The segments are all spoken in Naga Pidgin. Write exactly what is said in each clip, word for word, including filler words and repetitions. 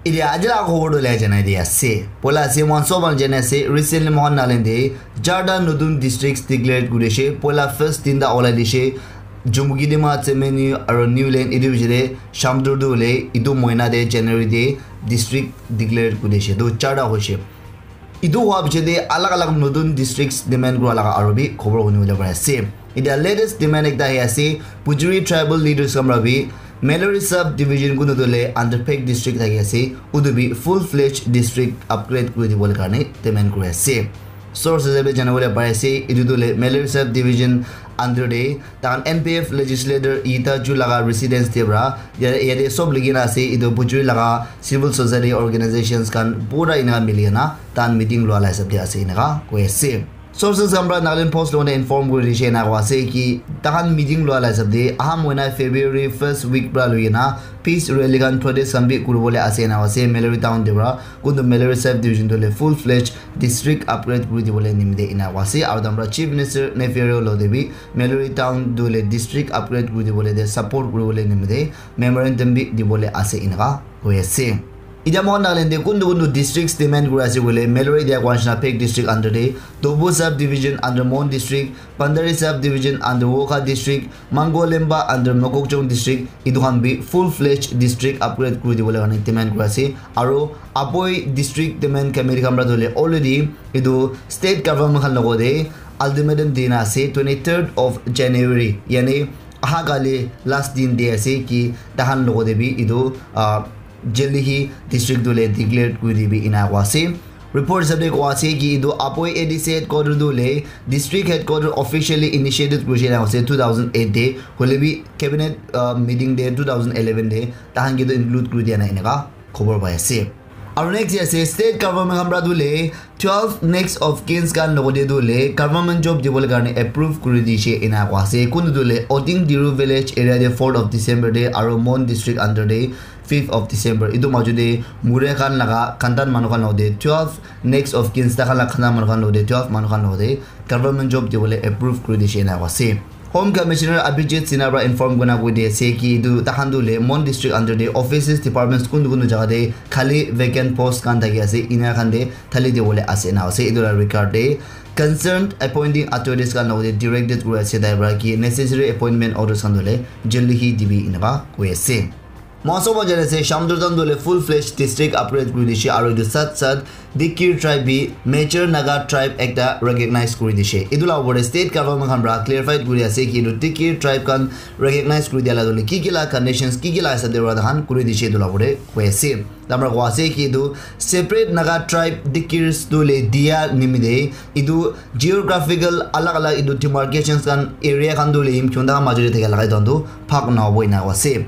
Etia aji laga khobor tu lai janai di ase. Poila ase mohan sob khan janai ase, recently mohan Nagaland te charta notun districts declare kuri dishe. Poila first tinta olai dishe, Jumukidima, Tsemenyu aru Niuland. Etu bichore Shamdur tu hoile etu mohina te January te district declare kuri dishe. Tu charta hoishe. Etu hua bichore te alag alag notun districts demand kura laga aru bi khobor huni bole pari ase. Etia latest demand ekta ahi ase, Pujuri tribal leaders khan para bi Mallory sub division kunu tu le under Phek district thaki ase, utu bi full fledged district upgrade kuri dibole karne demand kuri ase. Source hisab te jana bole pari ase, etu tu le Mallory sub division under te tahan N P F legislator Ita Ju laga residence te para ya-, yate sob likhi na ase, etu Pujuri laga civil society organizations khan pura ena mili na tahan meeting lua la hisab te ase eneka koi ase. Sources khan para Nagaland Post logot inform kuri dishe ena koi ase ki tahan meeting lua la hisab te aha mohina February first week para lui na peace rally khan protest khan bi kuri bole ase ena koi ase. Mallory town te para kuntu Mallory sub division tu le full fledged district upgrade kuri dibole nimite ena koi ase. Aru tahan para Chief Minister Neiphiu Rio logot te bi Mallory town tu le district upgrade kuri dibole te support kuri bole nimite memorandum bi dibole ase eneka koi ase. Etia mohan Nagaland te kuntu kuntu districts demand kuri ase koile, Mallory dia koi nishina Phek district under te, Tobu sub division under Mon district, Pandari sub division under Wokha district, Mangolemba under Mokokchung district, etu khan bi full fledged district upgrade kuri dibole karne demand kuri ase. Aru Aboi district demand committee khan para tu le already etu state government khan logot te ultimatum dina ase twenty third of January, yani aha kali last din de ase ki tahan logot te bi etu, ah, Jaldi hi district tu le declare kuri dibi ena koi ase. Report hisab te koi ase ki etu Aboi A D C headquarter tu le district headquarter officially initiated kuri ena koi ase two thousand eight te, hoile bi cabinet, ah, meeting te two thousand eleven te tahan ke tu include kuri dia nai eneka khobor pai ase. Aru next ase state government khan para tu le twelve next of kins khan logot te tu le government job dibole karne approve kuri dishe ena koi ase. Kuntu tu le Oting Diru village area te fourth of December te aru Mon district under te fifth of December. Etu maju te Mure khan laga khandan manu khan logot te twelve next of kins ta khan laga khandan manu khan logot te twelve manu khan logot te government job dibole approve kuri dishe ena koi ase. Home Commissioner Abhijit Sinha para inform kurina koi di ase ki etu tahan tu le Mon district under te offices departments kuntu kuntu jaga te khali vacant post khan thaki ase ena khan te thali dibole ase ena ase. Etu la regard te concerned appointing authorities khan logot te directed kuri ase tai para ki necessary appointment orders khan tu le jaldi hi dibi eneka koi ase. Mohan sob jane ase Shamdur town tu le full fledged district upgrade kuri dishe aru etu sat sat Dikir tribe bi major Naga tribe ekta recognize kuri dishe. Etu la opor te state government khan para clarified kuri ase ki etu Dikir tribe khan recognize kuri dia la tu le ki ki la conditions ki ki la hisab te para tahan kuri dishe etu la opor te koi ase. Tamra koi ase ki etu separate Naga tribe Dikirs tu le dia nimite etu geographical alag alag etu demarcations khan area khan tu le Yimkhiung ta maju te thaka lagai tu bhag na hobo ena koi ase.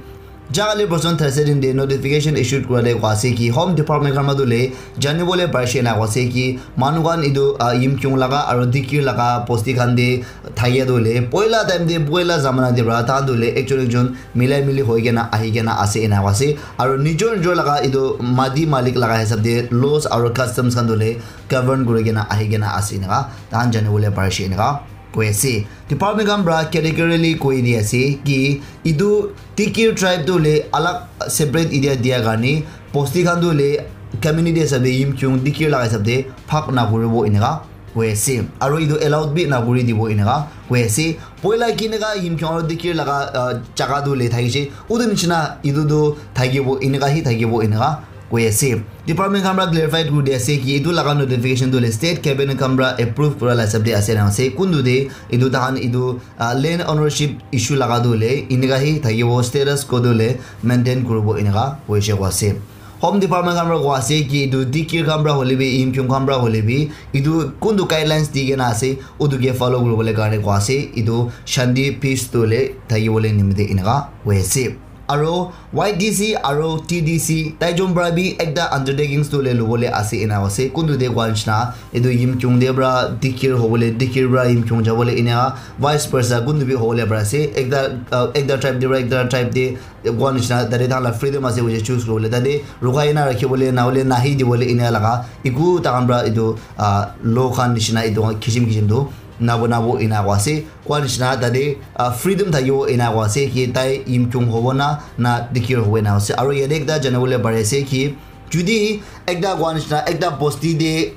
Jaga le person thirty din de notification issued kura de koi ase ki Home Department khan matu le jani bole parise na koi ase ki manu khan etu, ah, Yimkhiung laga aru Dikir laga bosti khan de thakia tu le poila time de poila zamana de para tahan tu le ekjon ekjon milai mili hoi kena ahi kena ase ena koi ase. Aru nijor nijor laga etu mati malik laga hisab de laws aru customs khan tu le govern kuri kena ahi kena ase eneka tahan jani bole parise eneka koi ase. Department khan para categorically koi di ase ki etu Dikir tribe tu le alag separate area dia karne bosti khan tu le community hisab te Yimkhiung Dikir laga hisab te bhag na kuribo eneka koi ase. Aru etu allowed bi na kuri dibo eneka koi ase. Poila kineka Yimkhiung aru Dikir laga, ah, jaga tu le thakise utu nishina etu tu thakibo eneka hi thakibo eneka koi ase. Department khan para clarified kuri di ase ki etu laga notification tu le state cabinet khan para approve kura la hisab te ase na ase. Kuntu de etu tahan etu, ah, land ownership issue laga tu le eneka hi thakibo, status quo tu le maintain kuribo eneka koise koi ase. Home Department khan para koi ase ki etu Dikir khan para hole bi Yimkhiung khan para hole bi etu kuntu guidelines di kena ase utu ke follow kuribole karne koi ase. Etu shanti peace tu le thakibole nimite eneka koi ase. Aru Y D C aru T D C taijun para bi ekta undertakings tu le lobole ase ena ase. Kuntu de koi nishina etu Yimkhiung de para Dikir hobole, Dikir para Yimkhiung jabole ena vice versa kuntu bi hobole para ase. Ekta, ah, ekta tribe de para ekta tribe de koi nishina tate tahan la freedom ase koile choose kuribole, tate rukai na rakhibole na hole nahi dibole ena laga eku tahan para etu, ah, law khan nishina etu kisim kisim tu nabo nabo ena koi ase. Koi nishina tate, ah, freedom thakibo ena koi ase ki tai Yimkhiung hobo na, na Dikir hobo ena ase. Aru yate ekta jana bole pari ase ki Judi ekta koa nishina ekta bosti te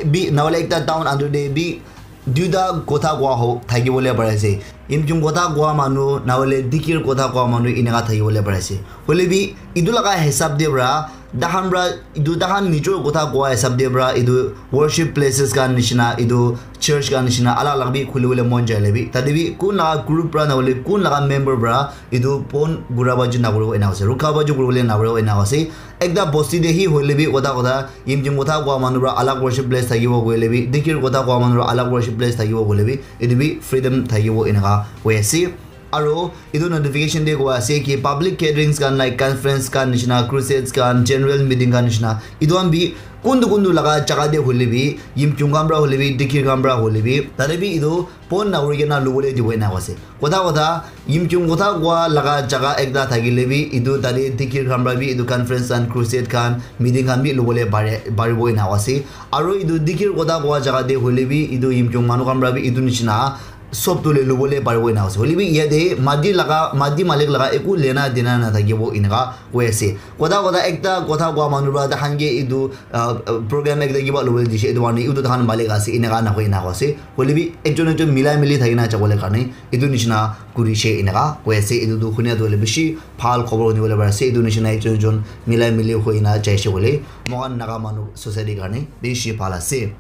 bi nahole ekta town under te bi duita kotha koa ho thaki bole pare ase. Yimchung kotha koa manu nahole Dikir kotha koa manu eneka thaki bole pare ase. Hoile bi etu laga hisab te pra tahan pra etu tahan nijor kotha koa hisab te pra etu worship places khan nishina, etu church khan nishina alag alag bi khuli bole mon jai le bi, tate bi kun laga group pra nahole kun laga member pra etu pon gura baji nakuribo ena ase, rukha baji kuribole nakuribo ena ase. Ekta bosti te hi hoile bi kotha kotha Yimchung kotha koa manu pra alag worship place thakibo koile bi, Dikir kotha koa manu pra alag worship place thakibo koile bi, etu bi freedom thakibo eneka hoi ase. Aro etu notification te koa ase ki public gatherings khan, like conference khan nishina, crusades khan, general meeting khan nishina, etu khan bi kuntu kuntu laga jaga te hoile bi, Yimchung khan pra hoile bi, Dikir khan pra hoile bi, tate bi etu pon nakuri kena lubole dibo ena ase. Kotha kotha Yimchung kotha koa laga jaga ekta thakile bi, etu tate Dikir khan pra bi etu conference khan, crusade khan, meeting khan bi lubole pare, paribo ena ase. Aro etu Dikir kotha koa jaga te hoile bi, etu Yimchung manu khan pra bi etu nishina sob tu le lubole paribo ena ase. Hoile bi yate mati laga, mati malik laga eku lena dena na thakibo eneka hoi ase. Kotha kotha ekta kotha koa manu pra tahan ke etu, ah, program ekta kiba lubole dishe, etu karne etu tahan malik ase, eneka nahoi ena ase. Hoile bi ekjon ekjon milai mili thakina jabole karne etu nishina kurishe eneka hoi ase. Etu tu hunia tu hoile bishi bhal khobor huni bole pare ase. Etu nishina ekjon ekjon milai mili hoi na jaise koile moikhan Naga manu society karne bishi bhal ase.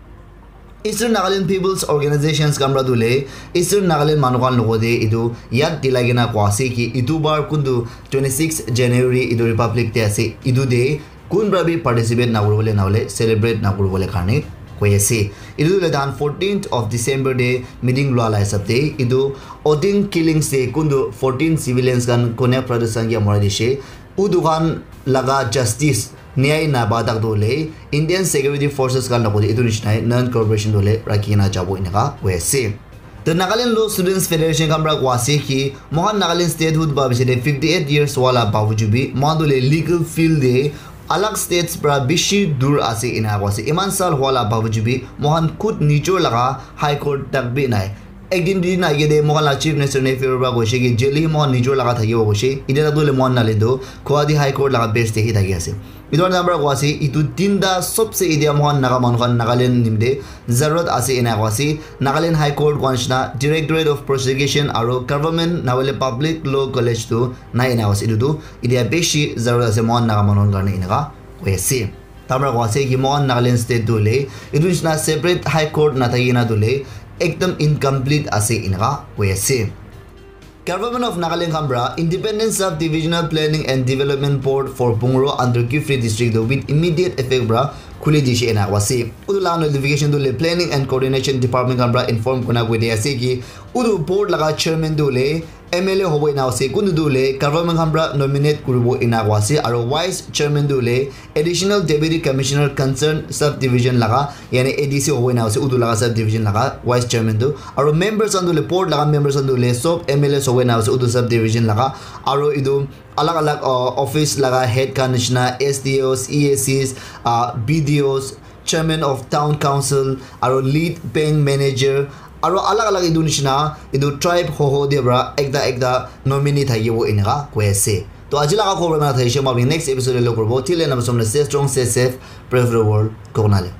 Eastern Nagaland People's Organizations khan pra tu le Eastern Nagaland manu khan logo te etu yad dilai kena koa ase ki etu bar kuntu twenty six January etu Republic Day ase, etu te kun pra bi participate nakuri bole nahole celebrate nakuri bole karne koi ase. Etu le dan fourteenth of December te meeting lua la hisab te etu Odin killings te kuntu fourteen civilians khan Konyak Protestant kya mora dishe, utu khan laga justice nyai naba tak tu le Indian Security Forces khan logo te etu nishina non cooperation tu le rakhi kena jabo eneka koi ase. The Nagaland Law Students Federation khan pra koa ase ki moikhan Nagaland statehood ba bichare fifty eight years wala babuju bi moikhan tu le legal field te alag states pra bishi dur ase ena koa ase. Iman sal wala babuju bi moikhan khud nijor laga High Court tak bi nai. Ekdin duidin age te moikhan la Chief Minister Neiphiu Rio pra koise ki jail hi moikhan nijor laga thakibo koise. Etia tak tu le moikhan nale tu Guwahati High Court laga base te hi thaki ase. Etu karne amra koa ase, etu tinta sobse etia moikhan Naga manu khan Nagaland nimite zarurat ase ena koa ase. Nagaland High Court koa nishina, Directorate of Prosecution aro Government nahole Public Law College tu nai ena koa ase. Etu tu etia bishi zarurat ase moikhan Naga manu khan karne eneka koi ase. Tamra koa ase ki moikhan Nagaland state tu hoile etu nishina separate High Court nathaki na tu hoile ekdam incomplete ase eneka koi ase. Government of Nagaland khan pra Independent Sub-Divisional Planning and Development Board for Pungro under Kiphire District tu with immediate effect pra khuli dishe ena koa ase. Utu la notification tu le Planning and Coordination Department khan pra inform kurina koi di ase ki utu board laga chairman tu le M L A hobo ena ase, kuntu tu le government khan pra nominate kuribo ena koa ase, aro vice chairman tu le Additional Deputy Commissioner concerned subdivision laga, yani A D C hobo ena ase, utu laga subdivision laga vice chairman tu. Aro members khan tu le, board laga members khan tu le, sob M L As hobo ena ase, utu subdivision laga. Aro etu alag alag, uh, office laga head khan nishina, S D Os, E A Cs, uh, B D Os, chairman of town council, aro lead bank manager, aro alag alag etu nishina, etu tribe hoho de pra ekta ekta nominee thakibo eneka koi ase. To aji laga khobor na thaishe, moi next episode te log koribo. Till then, stay strong, stay safe, pray for the world, Kokonale.